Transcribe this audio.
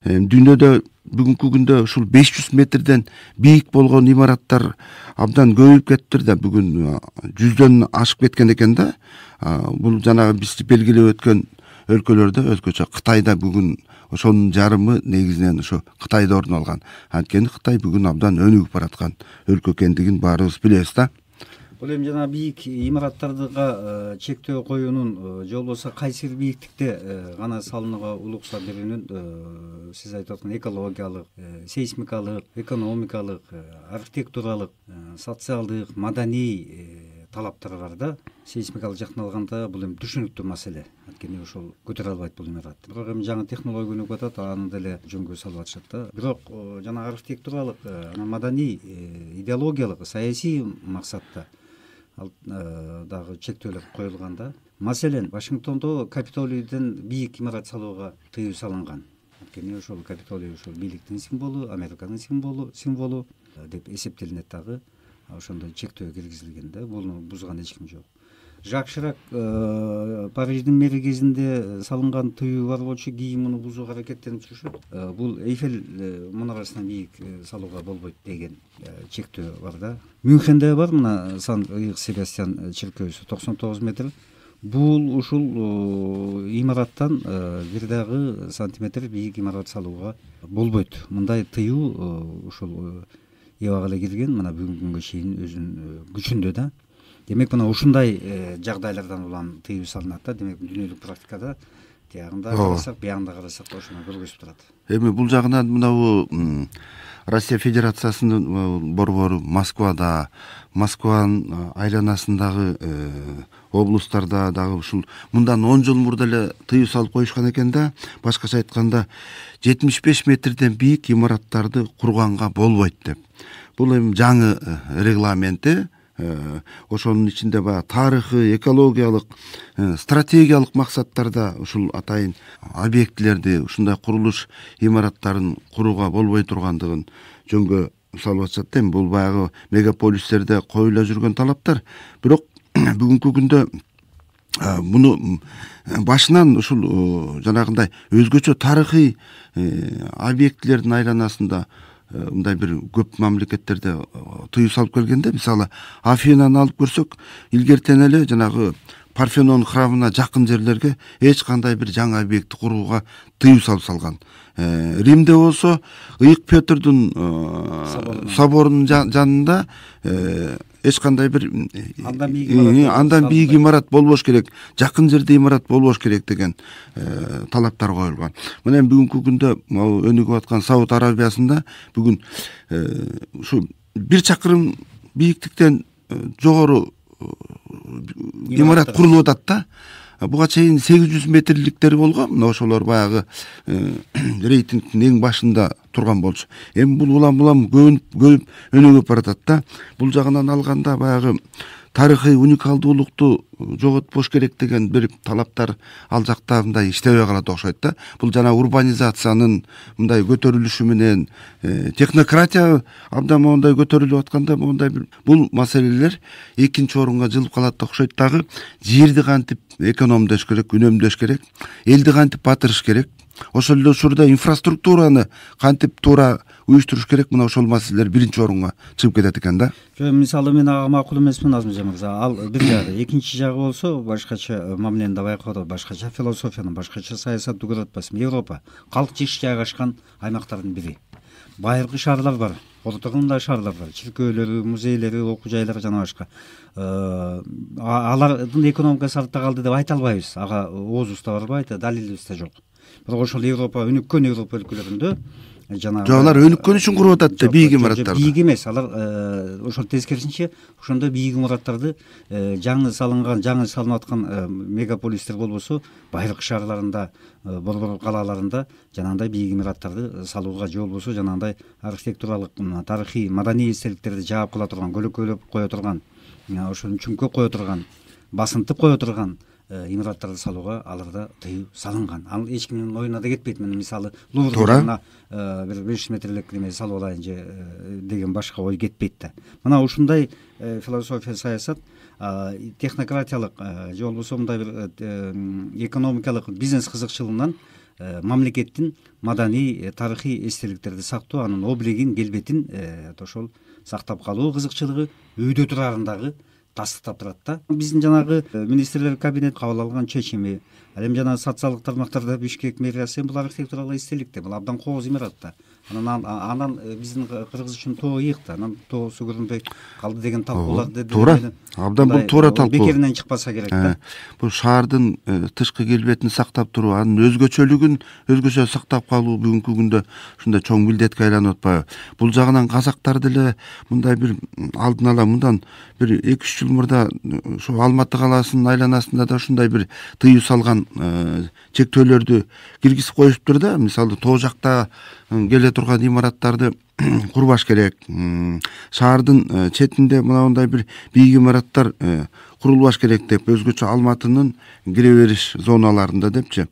Дүйнөдө бүгүнкү күндө ушул 500 метрден бийик болгон имараттар абдан көбөйүп кетиптир да, бүгүн 100дөн ашып кеткен экен да. Бул жанагы биз белгилеп өткөн өлкөлөрдө, өзгөчө Кытайда бүгүн ошонун жарымы негизинен ошо Кытайда орун алган. Анткени Кытай бүгүн абдан өнүгүп бараткан өлкө экендигин баарыбыз билебиз да. Бул эми жана бийик имараттарга чектөө коюунун же болбосо кайсы бир бийиктикте гана салынууга уруксат берүүнүн сиз айтып аткан экологиялык, сейсмикалык, экономикалык, архитектуралык, социалдык, маданий талаптары бар да. Сейсмикалык жактан алганда бул эми түшүнүктүү маселе. Анткени ошол көтөрө албайт бул имарат. Бирок эми жаңы технология өнүгүп атат, аны деле жөнгө салып атышат да. Бирок жана архитектуралык, маданий, идеологиялык, саясий максатта ал дагы чектөөлөр коюлган да. Маселен, Вашингтондо Капитолийден бийик имарат салууга тыюу салынган. Анткени ошол Капитолий ошол бийликтин символу, Американын символу деп эсептелинет дагы. Ошондой чектөө киргизилген да. Буну бузган эч ким жок. Жак Ширак Париждин мэри кезинде салынган тыюу бар болчу, кийин муну бузууга аракеттенип жүрүшөт. Бул Эйфель мунарасынан бийик салууга болбойт деген чектөө бар да. Мюнхенде бар мына Сан-Иоганн Себастьян чиркөөсү 99 метр. Бул ушул имараттан бир дагы сантиметр бийик имарат салууга болбойт. Мындай тыюу ушул эбага эле кирген, мына бүгүнкү күнгө чейин өзүнүн күчүндө да. Демек мына ушундай жагдайлардан улам тыюу салынат да. Демек дүйнөлүк практикада тиягында карасак, биягында карасак ошону көргөзүп турат. Эми бул жагынан мынабу Россия Федерациясынын борбору Москвада, Москванын айланасындагы облустарда дагы ушул мындан 10 жыл мурда эле тыюу салып коюшкан экен да. Башкача айтканда 75 метрден бийик имараттарды курганга болбойт деп. Бул эми жаңы регламенти. Ошонун ичинде баягы тарыхый, экологиялык, стратегиялык максаттарда ушул атайын объектилерди, ушундай курулуш имараттарын курууга болбой тургандыгын жөнгө салып атышат да. Бул баягы мегаполистерде коюла жүргөн талаптар. Бирок бүгүнкү күндө муну башынан ушул жанагындай өзгөчө тарыхый объектилердин айланасында мындай бир көп мамлекеттерде тыюу салып келгенде, мисалы Афинаны алып көрсөк, илгертен эле жанагы Парфенон храмына жакын жерлерге эч кандай бир жаңы объекти курууга тыюу салып салган. Римде болсо Ыйык Петрдун соборунун жанында эч кандай бир андан бийик имарат болбош керек, жакын жерде имарат болбош керек деген талаптар коюлган. Мына бүгүнкү күндө өнүгүп аткан Сауд Арабиясында бүгүн ушу 1 чакырым бийиктиктен жогору имарат курулуп атат да. Буга чейин 800 метрликтери болгон. Мына ошолор баягы рейтингдин эң башында турган болчу. Эми бул улам көп өнүгүп баратат да. Бул жагынан алганда баягы тарыхый уникалдуулукту жоготпош керек деген бир талаптар ал жакта мындай иштебей калат окшойт да. Бул жана урбанизациянын мындай көтөрүлүшү менен технократия абдан моундай көтөрүлүп атканда моундай бир бул маселелер экинчи орунга жылып калат окшойт дагы. Жерди кантип экономдош керек, үнөмдөш керек, элди кантип батырыш керек, ошол эле учурда инфраструктураны кантип туура уюштуруш керек, мына ошол маселелер биринчи орунга чыгып кетет экен да. Мисалы мен ага макул эмесмин Азмыжан мырза. Ал бир жагы, экинчи жагы болсо башкача мамилени да байкоодо, башкача философияны, башкача саясатты көрөт атпайсызбы? Европа калк жыш жайгашкан аймактардын бири. Байыркы шаарлар бар, ортогунда шаарлар бар, чиркөөлөрү, музейлери, окуу жайлары жана башка. Алардын экономикасы артта калды деп айта албайбыз. Ага оозубузда барбайт, далилибиз да жок. Бирок ошол Европа, өнүккөн Европа өлкөлөрүндө жанагы алар өнүккөн үчүн куруп атат да бийик имараттарды. Бийик эмес, алар ошол тескерисинче ошондо бийик имараттарды жаңы салынып аткан мегаполистер болбосо байыркы шаарларында, борбор калаларында жанагындай бийик имараттарды салууга же болбосо жанагындай архитектуралык, тарыхый, маданий эстеликтерди жаап кала турган, көлөкөлөп кое турган, ошону чүңкө кое турган, басынтып кое турган имараттарды салууга аларда тыюу салынган. Ал эч кимдин оюна да кетпейт. Мына мисалы Луврда бир 500 метрлик неме салып алайын же деген башка ой кетпейт да. Мына ушундай философия, саясат технократиялык же болбосо мындай бир экономикалык бизнес кызыкчылыгынан мамлекеттин маданий тарыхый эстеликтерди сактоо, анын облигин, келбетин ошол сактап калуу кызыкчылыгы үйдө турарындагы тастыктап турат да. Биздин жанагы министрлер кабинети кабыл алган чечими, ал эми жанагы социалдык тармактарда Бишкек мэриясы бул архитектуралык эстелик бул абдан кооз имарат да. Анан биздин кыргыз үчүн тоо ыйык да, анан тоосу көрүнбөй калды деген талкуулар туура, абдан бул туура талкуу, бекеринен чыкпаса керек да. Бул шаардын тышкы келбетин сактап туруу, анын өзгөчөлүгүн өзгөчө сактап калуу бүгүнкү күндө ушундай чоң милдетке айланып атпайбы? Бул жагынан казактар деле мындай бир алдын ала мындан бир 2-3 жыл мурда ошо Алматы калаасынын айланасында да ушундай бир тыюу салган чектөөлөрдү киргизип коюшуптур да. Мисалы тоо жакта келе турган имараттарды курбаш керек, шаардын четинде мындай бир бийик имараттар курулбаш керек деп, өзгөчө Алматынын кире бериш зоналарында депчи.